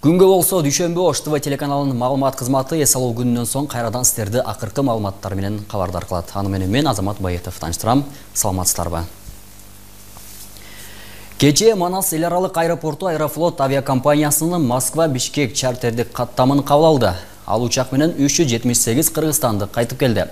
Күнгө болсо дүйшөмбү Ош ТВ телеканалынын маалымат кызматы эс алуу күнүнөн соң кайрадан сиздерди акыркы маалыматтар менен кабардар кылат. Аны менен мен Азамат Байетов таныштырам. Саламатсыздарбы? Кечээ Манас эл аралык аэропорту Аэрофлот авиакомпаниясынын Москва-Бишкек чартердик каттамын кабыл алды. Ал учак менен 378 кыргызстандык кайтып келди.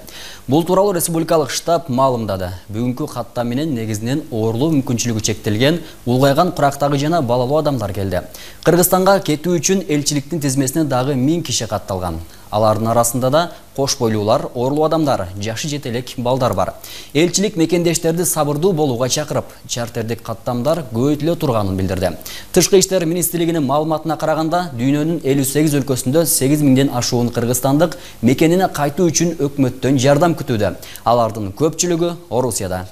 Бул тууралуу республикалык штаб маалымдады. Бүгүнкү каттам менен негизинен оорлоо мүмкүнчүлүгү чектелген, улгайган курактагы жана балалуу адамдар келди. Кыргызстанга кетүү үчүн элчиликтин тизмесине дагы 1000 киши катталган. Алардын арасында да кош бойлуулар, оорлуу адамдар, жашы жетелек балдар бар. Элчилик мекендештерди сабырдуу болууга чакырып, чартердик каттамдар көбөйтүлө турганын билдирди. Тышкы иштер министрлигинин маалыматына караганда, дүйнөнүн 58 өлкөсүндө 8000ден ашуун кыргызстандык мекенине кайтуу үчүн өкмөттөн жардам күтүүдө. Алардын көпчүлүгү Орусияда.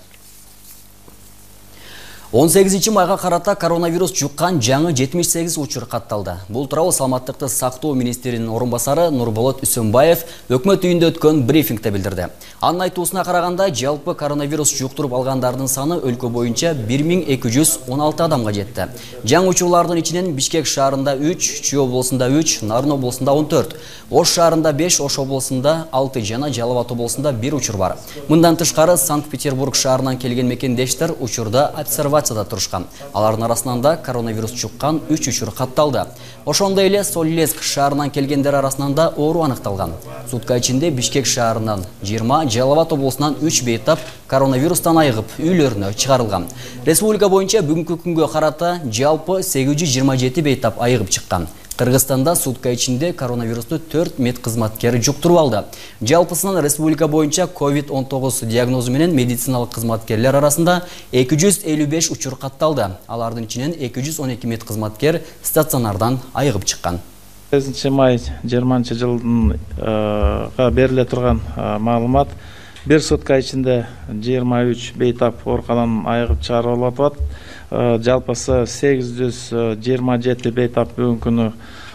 18-майга карата коронавирус жуккан жаңы 78 учур катталды. Бул тууралуу саламаттыкты сактоо министринин орун басары Нурболот Үсөнбаев өкмөт үйүндө өткөн брифингде билдирди. Анын айтуусуна караганда, жалпы коронавирус жуктуруп алгандардын саны өлкө боюнча 1216 адамга жетти. Жаңы учурлардын ичинен Бишкек шаарында 3, Чүй облусунда 3, Нарын облусунда 14, Ош шаарында 5, Ош облусунда 6 жана Жалал Абад облусунда 1 учур бар. Мындан тышкары Санкт-Петербург шаарынан келген мекендештер учурда обсервацияда турушкан. Алардын арасынан да коронавирус жуккан 3 учур катталды. Ошондой эле Солилецк шаарынан келгендер арасынан да оору аныкталган. Сутка ичинде Бишкек шаарынан 20, Жалал Абад облусунан 3 бейтап коронавирустан айыгып үйлөрүнө чыгарылган. Республика боюнча бүгүнкү күнгө карата жалпы 827 бейтап айыгып чыккан. Кыргызстанда сутка ичинде коронавирусту 4 медкызматкер жуктуруп алды. Жалпысынан республика боюнча COVID-19 диагнозу менен медициналык кызматкерлер арасында 255 учур катталды. Алардын ичинен 212 медкызматкер стационардан айыгып чыккан. 8-май 20-жылга бериле турган маалымат, бир сутка ичинде 23 бейтап ооруканадан айыгып чыгарылып атат. Жалпысы 827 бейтап бүгүнкү күнү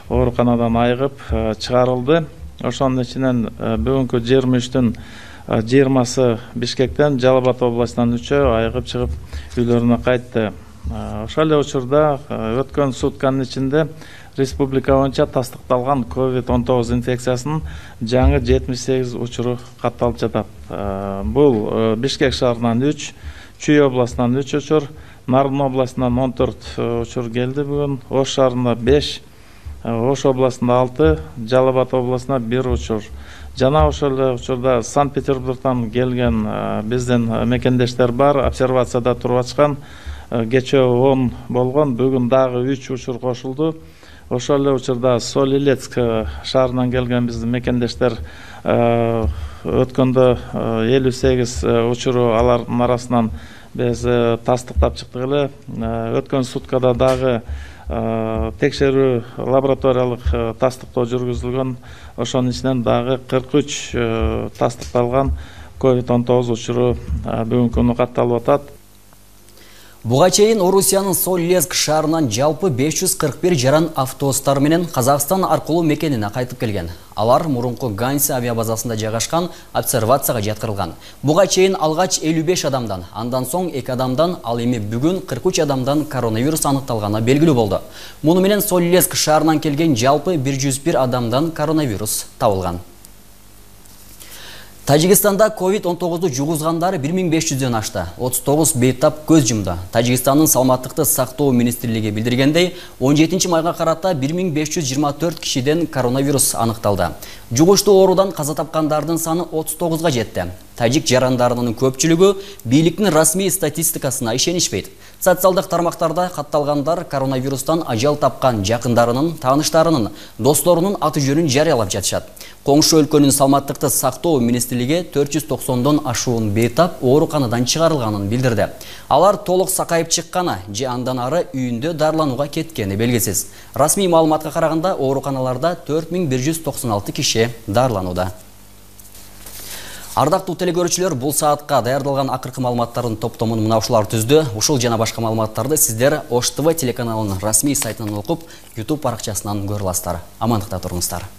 ооруканадан айыгып чыгарылды. Ошонун ичинен бүгүнкү 23-түн 20-сы Бишкектен, Жалал Абад областынан 3-ө айыгып чыгып үйлөрүнө кайтты. Ошол эле учурда өткөн сутканын ичинде республика боюнча тастыкталган COVID-19 инфекциясынын жаңы 78 учуру катталып жатат. Бул Бишкек шаарынан 3, Чүй областынан 3 учур, Нарын областынан 14 учур келди бүгүн, Ош шаарында 5, Ош областында 6, Жалал Абад областына 1 учур. Жана ошол эле учурда Санкт-Петербургдан келген биздин мекендештер бар, обсервацияда туруп ачкан. Кечээ 10 болгон, бүгүн дагы 3 учур кошулду. Ошол эле учурда Солилецк шаарынан келген биздин мекендештер өткөндө 58 учуру алардын арасынан биз тастыктап чыктык эле. Өткөн суткада дагы текшерүү лабораториялык тастыктоо жүргүзүлгөн. Ошонун ичинен дагы 43 тастыкталган COVID-19 учуру бүгүнкү күнү катталып атат. Буга чейин Орусиянын Солилецк шаарынан жалпы 541 жаран автобустар менен Казакстан аркылуу мекенине кайтып келген. Алар мурунку Ганси авиабазасында жайгашкан обсервацияга жаткырылган. Буга чейин алгач 55 адамдан, андан соң 2 адамдан, ал эми бүгүн 43 адамдан коронавирус аныкталганы белгилүү болду. Муну менен Солилецк шаарынан келген жалпы 101 адамдан коронавирус табылган. Тажикстанда COVID-19 жугузгандар 1500ден ашты. 39 бейтап көз жумду. Тажикстандын саламаттыкты сактоо министрлиги билдиргендей, 17-майга карата 1524 кишиден коронавирус аныкталды. Жугуштуу оорудан каза тапкандардын саны 39га жетти. Тажик жарандарынын көпчүлүгү бийликтин расмий статистикасына ишенишпейт. Социалдык тармактарда катталгандар коронавирустан ажал тапкан жакындарынын, тааныштарынын, досторунун аты жөнүн жарыялап жатышат. Коңшу өлкөнүн саламаттыкты сактоо министрлиги 490дон ашуун бейтап ооруканадан чыгарылганын билдирди. Алар толук сакайып чыкканы же андан ары үйүндө дарыланууга кеткени белгисиз. Расмий маалыматка караганда ооруканаларда 4196 киши дарыланууда. Ардактуу телекөрүүчүлөр, бул саатка даярдалган акыркы маалыматтардын топтомун мына ушулар түздү. Ушул жана башка маалыматтарды сиздер Ош ТВ телеканалынын расмий сайтынан окуп, YouTube баракчасынан көрө аласыздар. Амандыкта туруңуздар.